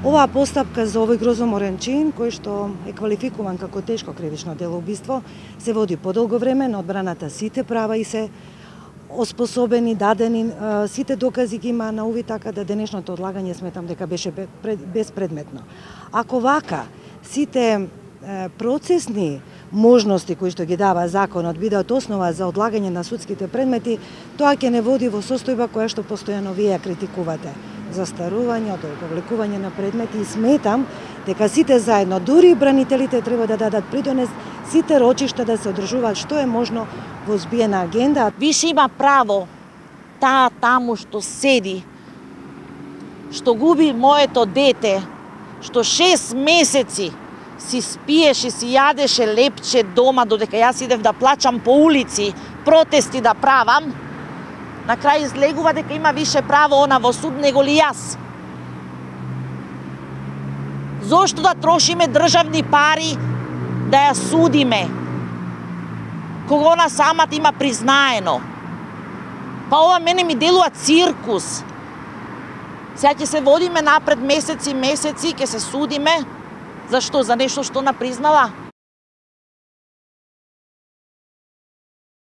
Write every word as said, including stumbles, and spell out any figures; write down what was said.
Оваа постапка за овој грозоморен чин, кој што е квалификуван како тешко кривично дело убиство, се води подолго време, на одбраната сите права и се оспособени, дадени, сите докази ги има на увид, така да денешното одлагање сметам дека беше безпредметно. Ако вака сите процесни можности кои што ги дава законот бидат основа за одлагање на судските предмети, тоа ќе не води во состојба која што постојано вие критикувате. Застарување, одолговлекување на предмети, и сметам дека сите заедно, дури и бранителите, треба да дадат придонес сите рочишта да се одржуваат што е можно во збиена агенда. Више има право таа таму што седи, што губи моето дете, што шест месеци си спиеше, си јадеше лепче дома, додека јас идев да плачам по улици, протести да правам, на крај излегува дека има више право она во суд него ли јас. Зошто да трошиме државни пари да ја судиме, кога она самата има признаено? Па ова мене ми делува циркус. Сега ќе се водиме напред месеци, месеци, ќе се судиме. Зашто? За нешто што напризнала?